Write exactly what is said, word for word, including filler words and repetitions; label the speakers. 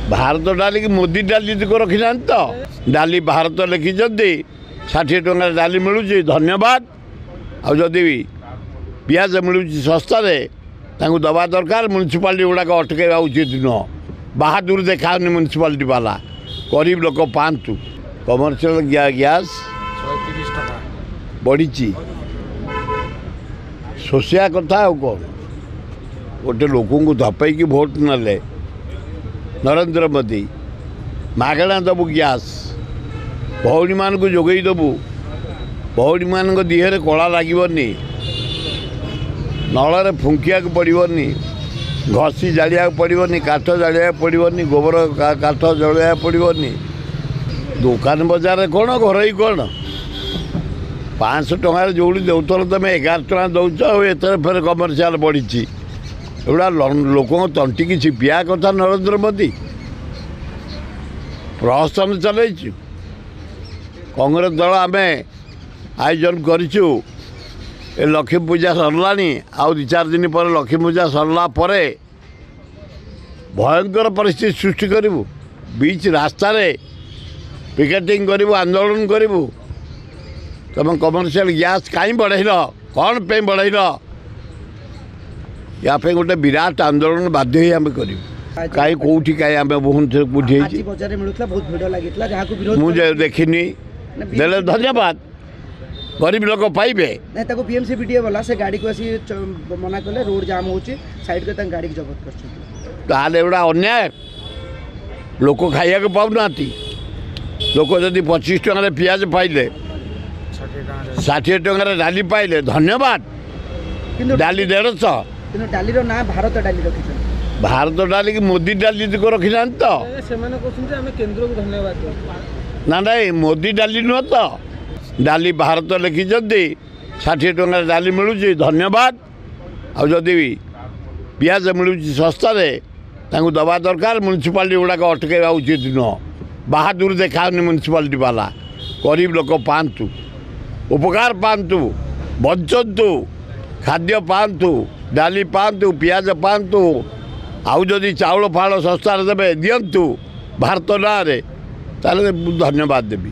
Speaker 1: ଭାରତ ଡାଲିକି ମୋଦି ଡାଲି ରଖିନାହାନ୍ତି ତ? ଡାଲି ଭାରତ ଲେଖିଛନ୍ତି, ଷାଠିଏ ଟଙ୍କାରେ ଡାଲି ମିଳୁଛି, ଧନ୍ୟବାଦ। ଆଉ ଯଦି ପିଆଜ ମିଳୁଛି ଶସ୍ତାରେ, ତାଙ୍କୁ ଦେବା ଦରକାର। ମ୍ୟୁନିସିପାଲିଟି ଗୁଡ଼ାକ ଅଟକାଇବା ଉଚିତ ନୁହଁ। ବାହାଦୁର ଦେଖାଅନି ମ୍ୟୁନିସିପାଲିଟି ବାଲା, ଗରିବ ଲୋକ ପାଆନ୍ତୁ। କମର୍ସିଆଲ ଗ୍ୟାସ୍ ବଢ଼ିଛି, ଶୋଷିବା କଥା ଆଉ କ'ଣ? ଗୋଟେ ଲୋକଙ୍କୁ ଧପେଇକି ଭୋଟ ନେଲେ ନରେନ୍ଦ୍ର ମୋଦି, ମାଗଣା ଦେବୁ ଗ୍ୟାସ୍, ଭଉଣୀମାନଙ୍କୁ ଯୋଗେଇ ଦେବୁ, ଭଉଣୀମାନଙ୍କ ଦେହରେ କଳା ଲାଗିବନି, ନଳରେ ଫୁଙ୍କିବାକୁ ପଡ଼ିବନି, ଘଷି ଜାଳିବାକୁ ପଡ଼ିବନି, କାଠ ଜାଳିବାକୁ ପଡ଼ିବନି, ଗୋବର କାଠ ଜଳେଇବାକୁ ପଡ଼ିବନି। ଦୋକାନ ବଜାରରେ କ'ଣ, ଘରୋଇ କ'ଣ? ପାଞ୍ଚଶହ ଟଙ୍କାରେ ଯେଉଁଠି ଦେଉଥିଲ ତୁମେ ଏଗାର ଟଙ୍କା ଦେଉଛ, ଆଉ ଏଥର ଫେର କମର୍ସିଆଲ ବଢ଼ିଛି। ଏଗୁଡ଼ା ଲୋକଙ୍କ ତଣ୍ଟିକି ଚିପିବା କଥା। ନରେନ୍ଦ୍ର ମୋଦି ପ୍ରହସନ ଚଲେଇଛୁ। କଂଗ୍ରେସ ଦଳ ଆମେ ଆୟୋଜନ କରିଛୁ। ଏ ଲକ୍ଷ୍ମୀ ପୂଜା ସରିଲାଣି, ଆଉ ଦୁଇ ଚାରି ଦିନ ପରେ ଲକ୍ଷ୍ମୀ ପୂଜା ସରିଲା ପରେ ଭୟଙ୍କର ପରିସ୍ଥିତି ସୃଷ୍ଟି କରିବୁ। ବିଚ୍ ରାସ୍ତାରେ ପିକେଟିଂ କରିବୁ, ଆନ୍ଦୋଳନ କରିବୁ। ତୁମେ କମର୍ସିଆଲ ଗ୍ୟାସ୍ କାହିଁ ବଢ଼େଇଲ, କ'ଣ ପାଇଁ ବଢ଼େଇଲ? ୟା ପାଇଁ ଗୋଟେ ବିରାଟ ଆନ୍ଦୋଳନ ବାଧ୍ୟ ହେଇ ଆମେ କରିବୁ। କାହିଁ କେଉଁଠି କାହିଁ ଆମେ ବହୁତ କେଉଁଠି ହେଇଛି ମୁଁ ଦେଖିନି। ଦେଲେ ଧନ୍ୟବାଦ, ଗରିବ ଲୋକ ପାଇବେ।
Speaker 2: ତାକୁ ବିଏମସି ବିଡିଏ ବାଲା ସେ ଗାଡ଼ିକୁ ଆସି ମନା କଲେ, ରୋଡ଼ ଜାମ୍ ହେଉଛି, ସାଇଡ୍ କରି ତାଙ୍କ ଗାଡ଼ିକୁ ଜବତ କରିଛନ୍ତି।
Speaker 1: ତାହେଲେ ଏଗୁଡ଼ା ଅନ୍ୟାୟ। ଲୋକ ଖାଇବାକୁ ପାଉନାହାନ୍ତି। ଲୋକ ଯଦି ପଚିଶ ଟଙ୍କାରେ ପିଆଜ ପାଇଲେ, ଷାଠିଏ ଟଙ୍କାରେ ଡାଲି ପାଇଲେ, ଧନ୍ୟବାଦ। କିନ୍ତୁ ଡାଲି ଦେଢ଼ଶହ।
Speaker 2: କିନ୍ତୁ ଡାଲିର ନାଁ ଭାରତ ଡାଲି ରଖିଛନ୍ତି।
Speaker 1: ଭାରତ ଡାଲିକି ମୋଦି ଡାଲି ରଖିନାହାନ୍ତି ତ?
Speaker 3: ସେମାନେ କହୁଛନ୍ତି ଆମେ କେନ୍ଦ୍ରକୁ ଧନ୍ୟବାଦ।
Speaker 1: ନା ନାଇଁ, ମୋଦି ଡାଲି ନୁହଁ ତ? ଡାଲି ଭାରତ ଲେଖିଛନ୍ତି, ଷାଠିଏ ଟଙ୍କାରେ ଡାଲି ମିଳୁଛି, ଧନ୍ୟବାଦ। ଆଉ ଯଦି ପିଆଜ ମିଳୁଛି ଶସ୍ତାରେ, ତାଙ୍କୁ ଦେବା ଦରକାର। ମ୍ୟୁନିସିପାଲିଟି ଗୁଡ଼ାକ ଅଟକାଇବା ଉଚିତ ନୁହଁ। ବାହାଦୁର ଦେଖାଅନି ମ୍ୟୁନିସିପାଲିଟି ବାଲା, ଗରିବ ଲୋକ ପାଆନ୍ତୁ, ଉପକାର ପାଆନ୍ତୁ, ବଞ୍ଚନ୍ତୁ, ଖାଦ୍ୟ ପାଆନ୍ତୁ, ଡାଲି ପାଆନ୍ତୁ, ପିଆଜ ପାଆନ୍ତୁ। ଆଉ ଯଦି ଚାଉଳ ଫାଉଳ ଶସ୍ତାରେ ଦେବେ, ଦିଅନ୍ତୁ ଭାରତ ନାଁରେ, ତାହେଲେ ମୁଁ ଧନ୍ୟବାଦ ଦେବି।